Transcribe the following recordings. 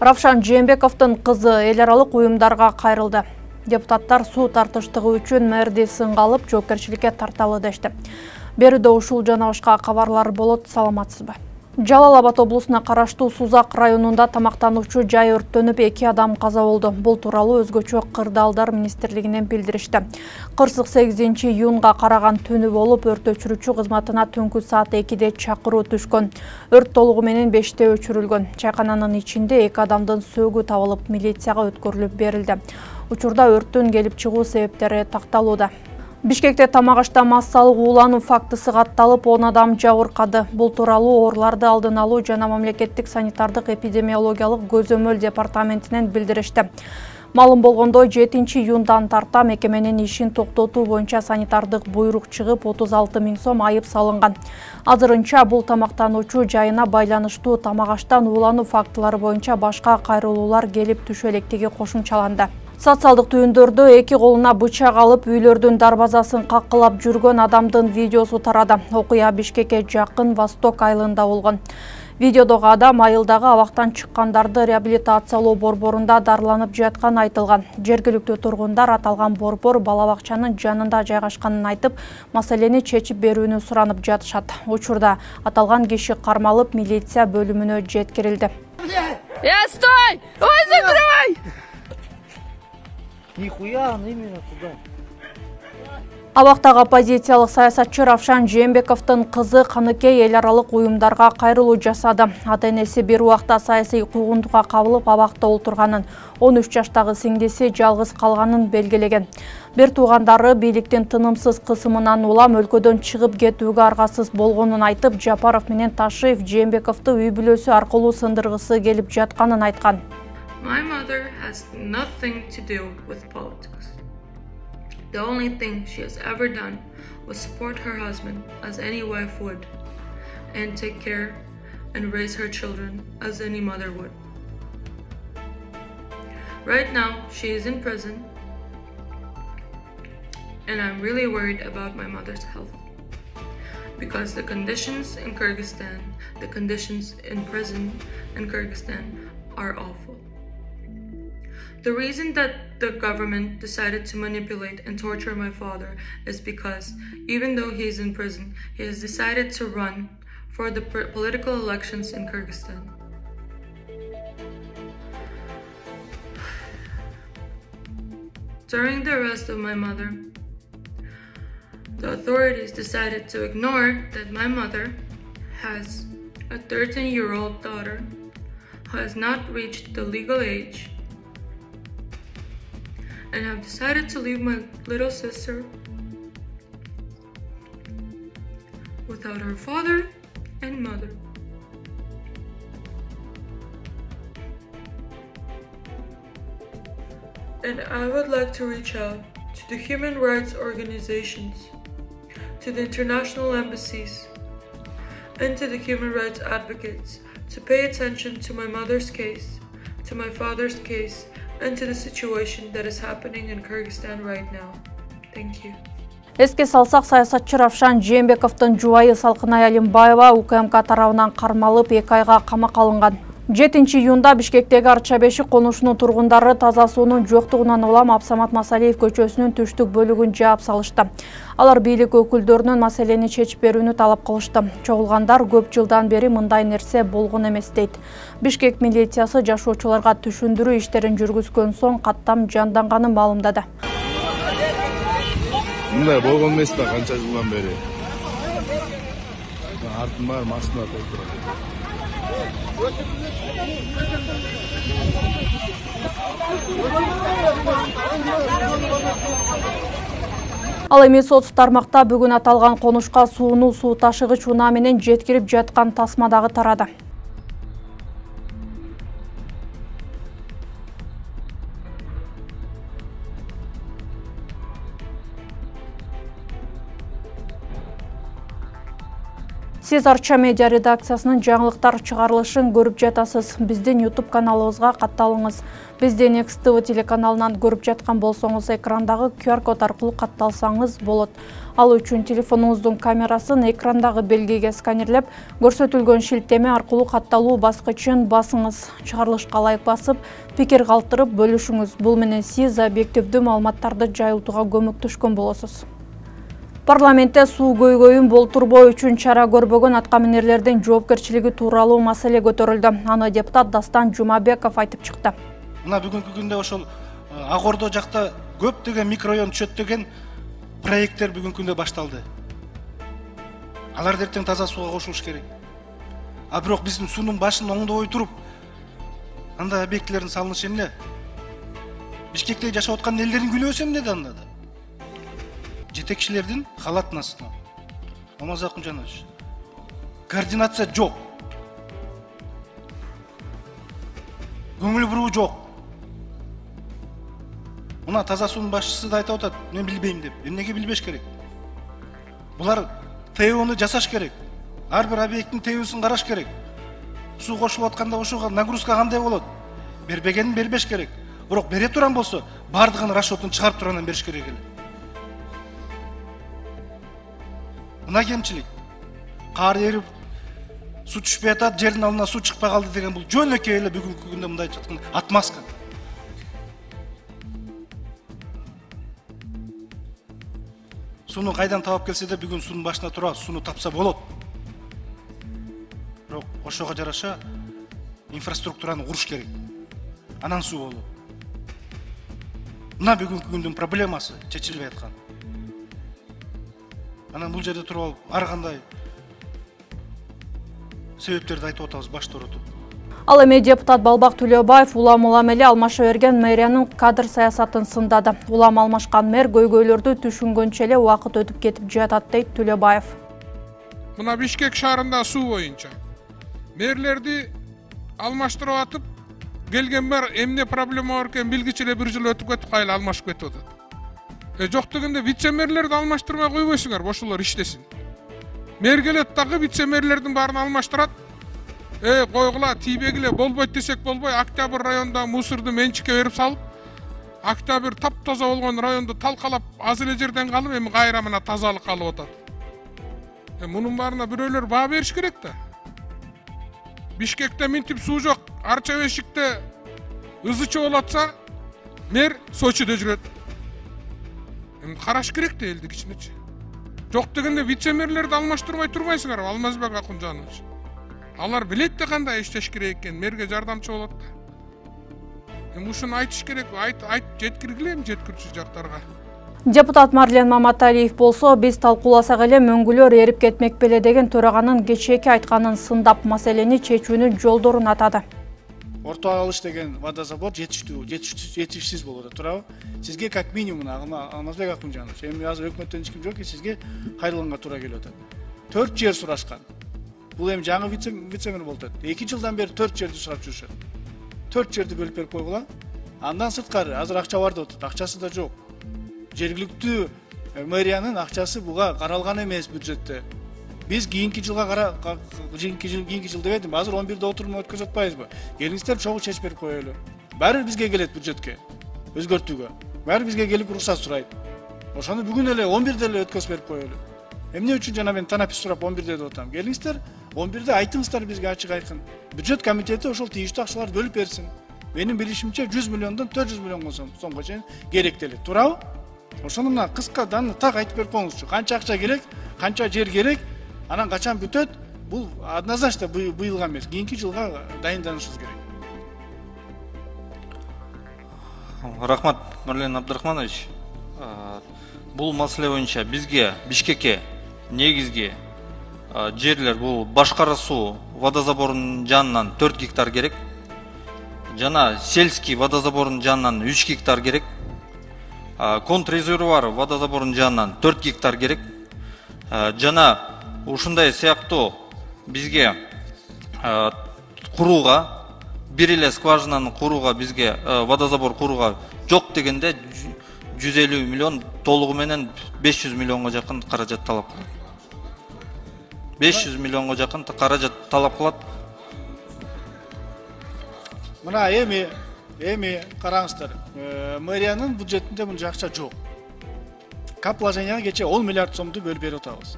Равшан Жээнбековдун кызы эл аралык уюмдарга кайрылды. Депутаттар суу тартыштыгы үчүн мэрди сынга алып жоопкерчиликке тарталы дешти. Берүүдө ушул жана башка кабарлар болот. Саламатсызбы? Жалал Абад облусуна караштуу Сузак районунда тамактануучу жай өрттөнүп 2 адам каза болду. Бул тууралуу өзгөчө кырдаалдар министрлигинен билдиришти. Кырсык 8-июнга караган түнү болуп, өрт өчүрүүчү кызматына түнкү саат 2-де чакыруу түшкөн. Өрт толугу менен 5-те өчүрүлгөн. Чайкананын ичинде 2 адамдын сөөгү табылып, милицияга өткөрүлүп берилди. Учурда өрттүн келип чыгуу себептери такталууда. Бишкекте тамак ашта массалык уулануу фактысы катталып, 10 адам жабыркады. Бул тууралуу ооруларды алдын алуу жана мамлекеттик санитардык эпидемиологиялык көзөмөл департаментинен билдиришти. Малым болгондой, 7-июндан тарта мекеменин ишин токтотуу боюнча санитардык буйрук чыгып, 36 000 сом айып салынган. Азырынча бул тамактануучу жайына байланыштуу тамак аштан уулануу фактылары боюнча башка кайрылуулар келип түшө электиги кошумчаланды. Социалдык түйүндөрдө 2 колуна бычак алып үйлөрдүн дарбазасын каккылап жүргөн адамдын видеосу тарады. Окуя Бишкекке жакын Восток айылында болгон. Видеодогу адам айылдагы абактан чыккандарды реабилитациялоо борборунда дарланып жатканы айтылган. Жергиликтүү тургундар аталган борбор бала бакчанын жанында жайгашканын айтып, маселени чечип берүүнү суранып жатышат. Учурда аталган киши кармалып, милиция бөлүмүнө жеткирилди. Стой! Ой, закрывай! Нихуя, именно туда. Абактагы оппозициялык саясатчы Равшан Жээнбековдун кызы Каныкей эл аралык уюмдарга кайрылуу жасады. Ата-энеси бир убакта саясий куугунтукка кабылып абакта олтурганын, 13 жаштагы сиңдиси жалгыз калганын белгилеген. Бир туугандары бийликтин тынымсыз кысымынан улам өлкөдөн чыгып кетүүгө аргасыз болгонун айтып, Жапаров менен Ташиев Жээнбековду үй бүлөсү аркылуу сындыргысы келип жатканын айткан. My mother has nothing to do with politics. The only thing she has ever done was support her husband as any wife would, and take care and raise her children as any mother would. Right now, she is in prison, and I'm really worried about my mother's health. Because the conditions in Kyrgyzstan, the conditions in prison in Kyrgyzstan are awful. The reason that the government decided to manipulate and torture my father is because even though he is in prison, he has decided to run for the political elections in Kyrgyzstan. During the arrest of my mother, the authorities decided to ignore that my mother has a 13-year-old daughter who has not reached the legal age, and have decided to leave my little sister without her father and mother. And I would like to reach out to the human rights organizations, to the international embassies, and to the human rights advocates to pay attention to my mother's case, to my father's case, and to the situation that is happening in Kyrgyzstan right now. Thank you. Эске салсак, саясатчы Равшан Жээнбековдун жубайы Салкынай Алимбаева УКМК тарабынан кармалып 2 айга камакка алынган. 7-июнда Бишкектеги Арча Бешик конушунун тургундары таза суунун жоктугунан улам Абсамат Масалиев көчөсүнүн түштүк бөлүгүн жаап салышты. Алар бийлик өкүлдөрүнөн маселени чечип берүүнү талап кылышты. Чогулгандар көп жылдан бери мындай нерсе болгон эмес дейт. Бишкек милициясы жашоочуларга түшүндүрүү иштерин жүргүзгөн соң каттам жанданганын маалымдады. Мындай болгон эмес да канча жылдан бери. Артым бар, машина толтурат. Ал эми соц тармакта бүгүн аталган конушка сууну суу ташыгыч унаа менен жеткирип жаткан тасма дагы тарады. Сиз Арча медиа редакциясынын жаңылыктар чыгарылышын көрүп жатасыз. Биздин YouTube каналыбызга катталыңыз. Бизди Next TV телеканалынан көрүп жаткан болсоңуз, экрандагы QR-код аркылуу катталсаңыз болот. Ал үчүн телефонуңуздун камерасын экрандагы белгиге сканерлеп, көрсөтүлгөн шилтеме аркылуу катталуу баскычын басыңыз. Чыгарылышка ылайык басып, пикир калтырып бөлүшүңүз. Бул менен сиз объективдүү маалыматтарды жайылтууга көмөктөшкөн болосуз. Парламентте суу көйгөйүн болтурбоо үчүн чара көрбөгөн аткаминерлердин жоопкерчилиги тууралуу маселе көтөрүлдү. Аны депутат Дастан Жумабеков айтып чыкты. Мына бүгүнкү күндө ошол Ак Ордо жакта көптөгөн микрорайон түшөт деген проекттер бүгүнкү күндө башталды. Алар эртең таза сууга кошулуш керек. А бирок биздин суунун башын оңдобой туруп, андай объектилердин салынышы эмне? Бишкекте жашап аткан элдердин күнөөсү эмне да анда? Жетекчилердин халаттын астына. Омазакун Жанович. Координация жок. Көңүл буруу жок. Мына таза суунун башчысы да айтып атат, мен билбейм деп. Эмнеге билбеш керек? Булар ТОну жасаш керек. Ар бир объекттин ТОсун караш керек. Суу кошулуп атканда ошого нагрузка кандай болот? Бербегенин бербеш керек. Бирок бере турган болсо, бардыгын расчетун чыгарып тургандан бериш керек эле. Мына кемчилик. Кар эрип, суу түшпөй атат, жердин алдына суу чыкпай калды деген бул жөнөкөй эле бүгүнкү күндө мындай жаткан отмазка. Сууну кайдан табап келсе да бүгүн суунун башына тура сууну тапса болот. Бирок ошого жараша инфраструктураны куруш керек. Анан суу болот. Мына бүгүнкү күндүн проблемасы чечилбей аткан. Анан бул жерде туруп алып, ар кандай себептерди айтып атабыз башты оротуп. Ал эми депутат Балбак Төлөбаев улам эле алмаша берген мэриянын кадр саясатын сындады. Улам алмашкан мэр көйгөйлөрдү түшүнгөнчө эле убакыт өтүп кетип жатат дейт Төлөбаев. Мына Бишкек шаарында суу боюнча мэрлерди алмаштырып атып, келген мэр эмне проблема бар экен билгичи эле бир жыл өтүп кетип кайла алмашып кетип атат. Жок дегенде вице-мэрлерди алмаштырмай койбойсуңар, ошолор иштесин. Мэр келет дагы вице-мэрлердин баарын алмаштырат. Койгула, тийбегиле болбойт десек болбой, Октябрь районунда мусорду менчикке берип салып, Октябрь таптаза болгон районду талкалап, аз эле жерден калып, эми кайра мына тазалык калып атат. Мунун баарына бирөөлөр баа бериш керек да. Бишкекте минтип суу жок, Арча Бешикте ызычы болуп атса, мэр Сочиде жүрөт. Караш керек да элдик ичинечи. Жок дегенде вице-мэрлерди алмаштырбай турбайсыңар, Алмазбек Акунжанович. Алар билет да кандай иштеш керек экен, мэрге жардамчы болот да. Ушуну айтыш керек, айт жеткиргиле жеткирүүчү жактарга. Депутат Марлен Маматалиев болсо, биз талкууласак эле мөңгүлөр эрип кетмек беле деген төраганын кечээки айтканын сындап, маселени чечүүнүн жолдорун атады. Орто алыш деген водозабор жетишсиз болуп атат, туурабы? Сизге как минимум Алмазбек Акунжанович, эми азыр өкмөттөн эч ким жок, сизге кайрылганга туура келип атат. 4 жер сурашкан. Бул эми жаңы вице-мэр болуп атат. 2 жылдан бери 4 жерди сурап жүрүшөт. 4 жерди бөлүп берип койгула. Андан сырткары азыр акча бар деп атат, акчасы да жок. Жергиликтүү мэриянын акчасы буга каралган эмес бюджетте. Биз кийинки жылга кийинки жыл дебедим, азыр 11-де отурум өткөзүп атпайбызбы? Келиңиздер чогуу чечип берип коелу. Баары бизге келет бюджетке, өзгөртүүгө. Баары бизге келип уруксат сурайт. Ошону бүгүн эле 11-де эле өткөзүп берип коелу. Эмне үчүн жана мен танапис сурап 11-де деп атам? Келиңиздер, 11-де айтыңыздар бизге ачык айкын. Бюджет комитети ошол тийиштүү акчаларды бөлүп берсин. Менин билишимче 100 миллиондон 400 миллионго сомго чейин керектели. Туурабы? Ошону мына кыска даны так айтып берип коюңузчу. Канча акча керек, канча жер керек, анан качан бүтөт? Бул однозначно быйылга эмес, кийинки жылга дайынданышыбыз керек. Рахмат, Марлен Абдрахманович. Бул маселе боюнча бизге Бишкекке негизги жерлер бул Башкара суу водозаборунун жанынан 4 гектар керек. Жана сельский водозаборунун жанынан 3 гектар керек. Контррезервуар водозаборунун жанынан 4 гектар керек. Жана ушундай сыяктуу бизге курууга, бир эле скважинаны курууга бизге водозабор курууга жок дегенде 150 миллион толугу менен 500 миллионго жакын каражат талап кылат. 500 миллионго жакын каражат талап кылат. Мына эми караңыздар. Мэриянын бюджетинде мынча акча жок. Капложенияга кече 10 миллиард сомду бөлүп берип атабыз.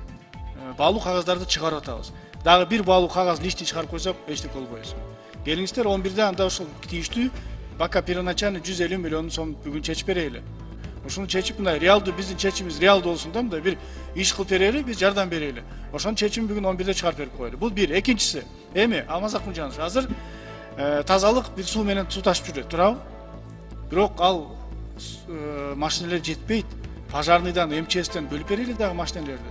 Баалуу кагаздарды чыгарып атабыз. Дагы бир баалуу кагаз лишти чыгарып койсок, эчтеке болбойбуз. Келиңиздер 11-де анда ушул тийиштүү пока первоначально 150 миллион сом бүгүн чечип берели. Ошону чечип мындай реалдуу биздин чечимибиз реалдуу болсун да, мындай бир иш кылып берели, биз жардам берели. Ошонун чечимин бүгүн 11-де чыгарып берип коелу. Бул бир. Экинчиси, эми Алмазак Мыжанович азыр тазалык бир суу менен суу ташып жүрөт, туурабы? Бирок ал машиналар жетпейт. Пожарныйдан, МЧСтен бөлүп берели дагы машиналарды.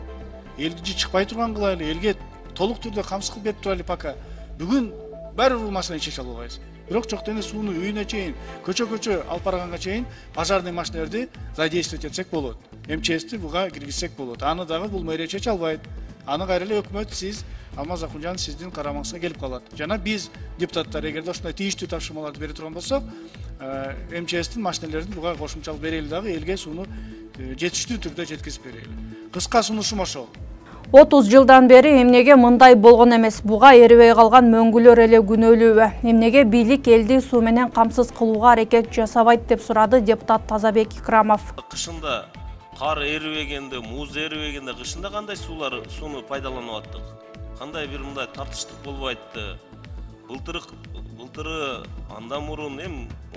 Элди чыкпай турган кылайлы, элге толук түрдө камсыз кылып берип турайлы пока. Бүгүн баары бул машинаны чече албайбыз. Бирок жок дене сууну үйүнө чейин, көчө алып барганга чейин пожарный машиналарды задействовать этсек болот. МЧСти буга киргизсек болот. Аны дагы бул мэрия чече албайт. Аны кайра эле өкмөт, сиз Алмазак Мыжанов сиздин карамаңызга келип калат. Жана биз депутаттар эгерде ушундай тийиштүү тапшырмаларды бере турган болсок, МЧСтин машиналарын буга кошумчалып берели дагы элге сууну жетиштүү түрдө жеткизип берели. Кыска сунушум ошол. 30 жылдан бери эмнеге мындай болгон эмес, буга эрибей калган мөңгүлөр эле күнөөлүүбү? Эмнеге бийлик элди суу менен камсыз кылууга аракет жасабайт деп сурады депутат Тазабек Икрамов. Кышында кар эрибегенде, муз эрибегенде кышында кандай сууну пайдаланып аттык? Кандай бир мындай тартыштык болбойтты? Былтыры андан мурун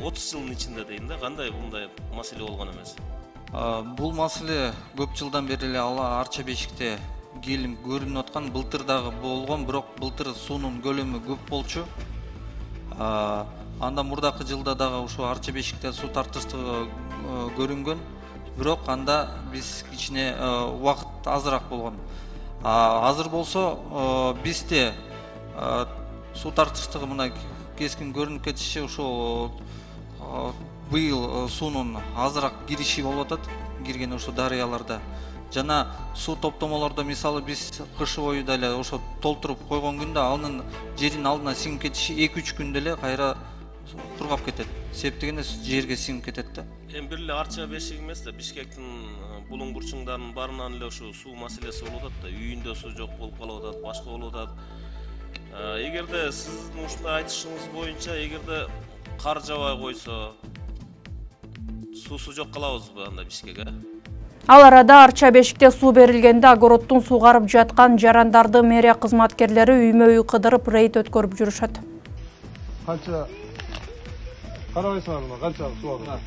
30 жылдын ичинде дейм да, кандай мындай маселе болгон эмес? Бул маселе көп жылдан бери эле Арча бешикте келип көрүнүп аткан. Былтыр дагы болгон, бирок былтыр суунун көлөмү көп болчу. Андан мурдакы жылда дагы ушу Арча бешикте суу тартыштыгы көрүнгөн. Бирок анда биз кичине убакыт азыраак болгон. Азыр болсо бизде суу тартыштыгы мына кескин көрүнүп кетиши ушул быйыл суунун азыраак кириши болуп атат, кирген ошо дарыяларда. Жана суу топтомолордо мисалы биз кышы бою деле ошо толтуруп койгон күндө анын жерин алдына сиңип кетиши 2-3 күндө эле кайра кургап кетет. Себеп дегенде жерге сиңип кетет да. Бир эле Арча бешик эмес да, Бишкектин булуң бурчуңдарынын баарынан эле ушу суу маселеси болуп атат да. Үйүндө суу жок болуп калып атат, башка болуп атат. Эгерде сиздин ушундай айтышыңыз боюнча, эгерде кар жабай койсо, суусу жок калабызбы анда Бишкекке? Ал арада Арча бешикте суу берилгенде огородтун сугарып жаткан жарандарды мэрия кызматкерлери үймө-үй кыдырып рейд өткөрүп жүрүшөт. Канча карабайсыңарбы, канча суу бар?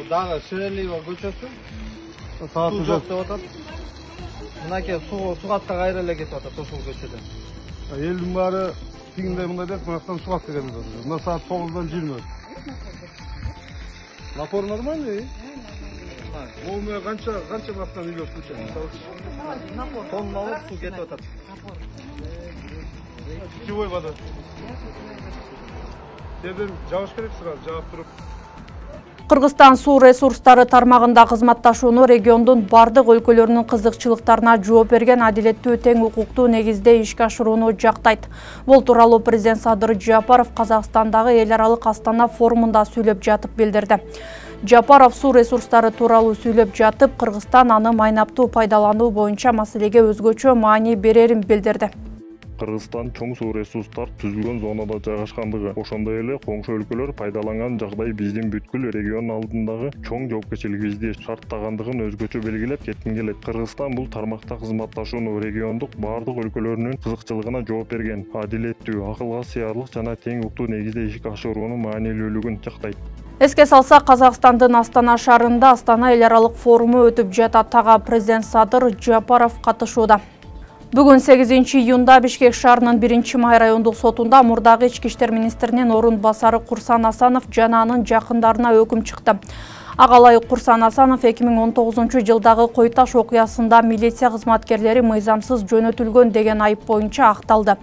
Дагы Шевелиева көчөсү. Суу жок деп атат. Мынакей сугатка кайра эле кетип атат ошол көчөдө. Элдин баары тигиндей мындай деп мынактан сугатка келип атат. Мына саат 9-дан 20. Напор нормальный? Ол канча бастан үйлөр суу чыгат? Тонналык суу кетип атат. Питьевой вода. Жерден жабыш керек сразу, жаап туруп. Кыргызстан суу ресурстары тармагында кызматташууну региондун бардык өлкөлөрүнүн кызыкчылыктарына жооп берген адилеттүү тең укуктуу негизде ишке ашырууну жактайт. Бул тууралуу президент Садыр Жапаров Казакстандагы эл аралык Астана форумунда сүйлөп жатып билдирди. Жапаров суу ресурстары тууралуу сүйлөп жатып, Кыргызстан аны майнаптуу пайдалануу боюнча маселеге өзгөчө маани берерин билдирди. Кыргызстан чоң суу ресурстар түзүлгөн зонада жайгашкандыгы, ошондой эле коңшу өлкөлөр пайдаланган жагдай биздин бүткүл регион алдындагы чоң жоопкерчилигибизди шарттагандыгын өзгөчө белгилеп кетким келет. Кыргызстан бул тармакта кызматташууну региондук бардык өлкөлөрүнүн кызыкчылыгына жооп берген, адилеттүү, акылга сыярлык жана тең уктуу негизде ишке ашыруунун маанилүүлүгүн жактайт. Эске салсак, Казакстандын Астана шаарында Астана эл аралык форуму өтүп жатат. Тага президент Садыр Жапаров катышууда. Бүгүн 8 июнда Бишкек шаарынын 1-Май райондук сотунда мурдагы ички иштер министринин орун басары Курсан Асанов жана анын жакындарына өкүм чыкты. Агалай Курсан Асанов 2019 жылдагы Кой Таш окуясында милиция кызматкерлери мыйзамсыз жөнөтүлгөн деген айып боюнча акталды.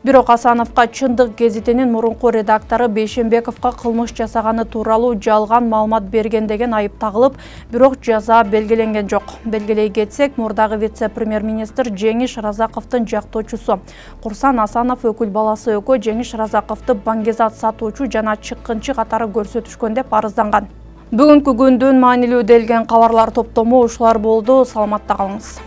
Бирок Асановго Чындык гезитинин мурунку редактору Бейшембековго кылмыш жасаганы тууралуу жалган маалымат берген деген айып тагылып, бирок жаза белгиленген жок. Белгилей кетсек, мурдагы вице-премьер-министр Жеңиш Разаковдун жактоочусу Курсан Асанов өкүл баласы Өкө Жеңиш Разаковду баңгезат сатуучу жана чыккынчы катары көрсөтүшкөн деп арызданган. Бүгүнкү күндүн маанилүү делген кабарлар топтому ушулар болду. Саламатта калыңыз.